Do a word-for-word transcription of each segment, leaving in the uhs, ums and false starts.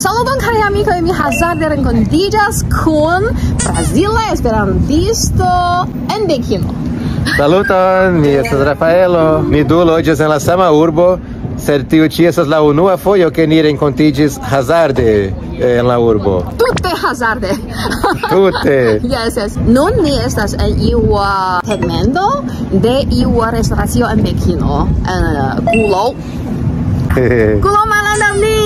Saluton, kaj amikoj, mi hazarde renkontiĝas kun brazila esperantisto en Pekino. Saluton, mi estas Rafaelo. Ni du loĝas en la sama urbo, sed tiu ĉi estas la unua fojo, ke ni renkontiĝis hazarde en la urbo. Tute hazarde. Tute. Yes, yes. Nun ni estas en iu uh, tegmento de iu restoracio en Pekino, en uh, Gulo. Gulo malantaŭ ni.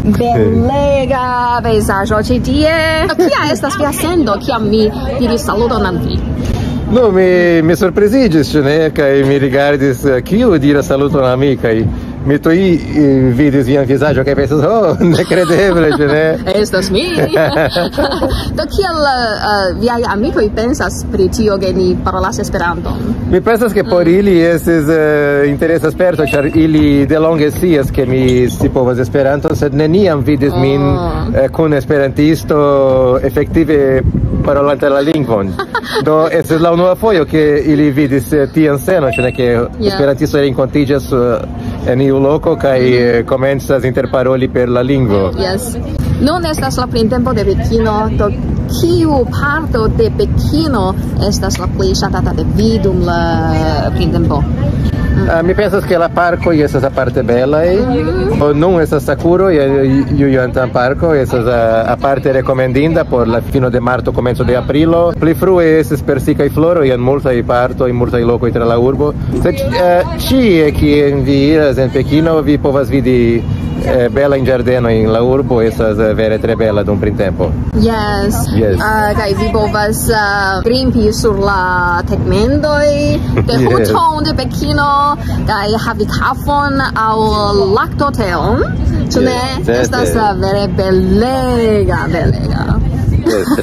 Belega pejzaĝo ĉi tie. Kia estas via sendo, kiam mi diris saluton al vi? No, mi, mi surpriziĝis, ĉu ne? Kaj mi rigardis, eh, kiu diras saluton al mi, kaj mi tuj eh, vidis vian vizaĝon, kaj pensis, "Oh, nekredeble, ĉu ne?" Estas mi. Do kiel uh, viaj amikoj pensas pri tio, ke ni parolas Esperanton? Mi pensas, ke por ili estis uh, interesa sperto, ĉar ili delonge scias, ke mi scipovas Esperanton, sed neniam vidis min Oh. eh, kun esperantisto efektive parolante la lingvon. Do, estis la unua fojo, ke ili vidis eh, tian scenon, ĉu ne, ke esperantistoj renkontiĝas eh, en iu loko kaj eh, komencas interparoli per la lingvo. Yes. Nun estas la printempo de Pekino, do kiu parto de Pekino estas la plej ŝatata de vi dum la printempo? Ah, mi pensas, ke la parkoj estas aparte belaj. Oh, nun estas sakuro, je Jujantan parko, estas ah, aparte rekomendinda por la fino de marto, komenco de aprilo. Pli frue estis per sekaj floroj en multaj partoj, multaj lokoj tra la urbo. Sed eh, ĉie, kien vi iras en Pekino, vi povas vidi eh, belajn ĝardenojn. La urbo estas eh, vere tre bela dum printempo. Yes. Yes. Uh, kaj vi povas uh, grimpi sur la tegmentoj de Yes. Huton de Pekino, kaj havi kafon aŭ laktoteon. Ĉu ne? Yes, certe. Estas uh, vere belega, belega. Yes,